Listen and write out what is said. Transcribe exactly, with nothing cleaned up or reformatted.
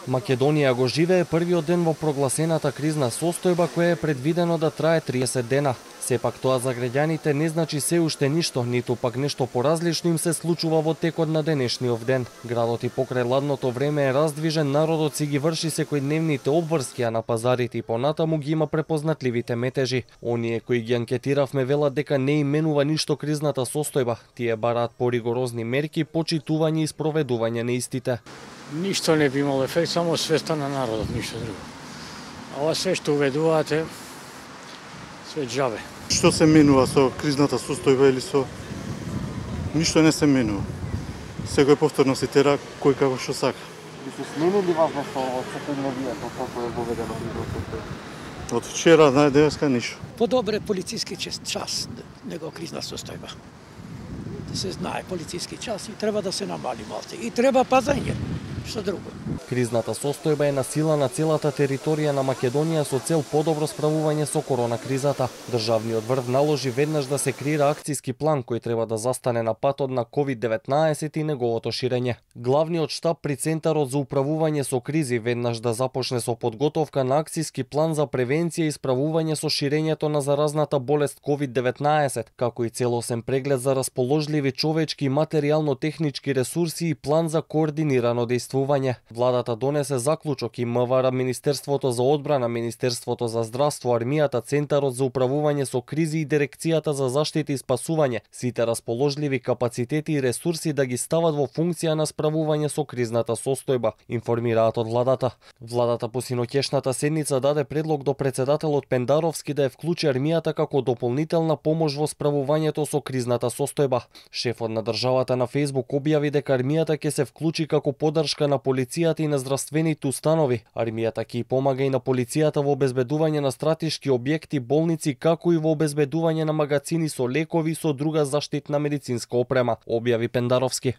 Македонија го живее првиот ден во прогласената кризна состојба која е предвидено да трае триесет дена. Сепак тоа за граѓаните не значи се уште ништо, ниту пак нешто поразлично им се случува во текот на денешниот ден. Градот и покрај ладното време е раздвижен, народот си ги врши секојдневните обврски, а на пазарите и понатаму ги има препознатливите метежи. Оние кои ги анкетиравме велат дека не именува ништо кризната состојба. Тие бараат поригорозни мерки, почитување и спроведување на истите. Ништо не би имало ефект, само свеста на народот, ништо друго. А ова се што уведувате, све џабе. Што се менува со кризната состојба или со... Ништо не се менува. Секој повторно си тера кој како што сака. Ви се сменили вас нешто од секојдневието како е воведено кризна состојба? Од вчера на денеска ништо. Подобре полициски час него кризна состојба. Да се знае полициски час и треба да се намали малце. И треба пазење. Што друго? Кризната состојба е на сила на целата територија на Македонија со цел подобро справување со корона кризата. Државниот врв наложи веднаш да се креира акцијски план кој треба да застане на патот на ковид деветнаесет и неговото ширење. Главниот штаб при Центарот за управување со кризи веднаш да започне со подготовка на акцијски план за превенција и справување со ширењето на заразната болест ковид деветнаесет, како и целосен преглед за расположливи човечки и материјално-технички ресурси и план за координирано дејствување. Владата донесе заклучок и МВР, Министерството за одбрана, Министерството за здравство, армијата, Центарот за управување со кризи и Дирекцијата за заштита и спасување сите расположливи капацитети и ресурси да ги стават во функција на справување со кризната состојба, информираат од владата. Владата по синоќешната седница даде предлог до председателот Пендаровски да ја вклучи армијата како дополнителна помош во справувањето со кризната состојба. Шефот на државата на Фејсбук објави дека армијата ќе се вклучи како поддршка на полицијата и на здравствените установи. Армијата ќе помага и на полицијата во обезбедување на стратешки објекти, болници, како и во обезбедување на магазини со лекови и со друга заштитна медицинска опрема, објави Пендаровски.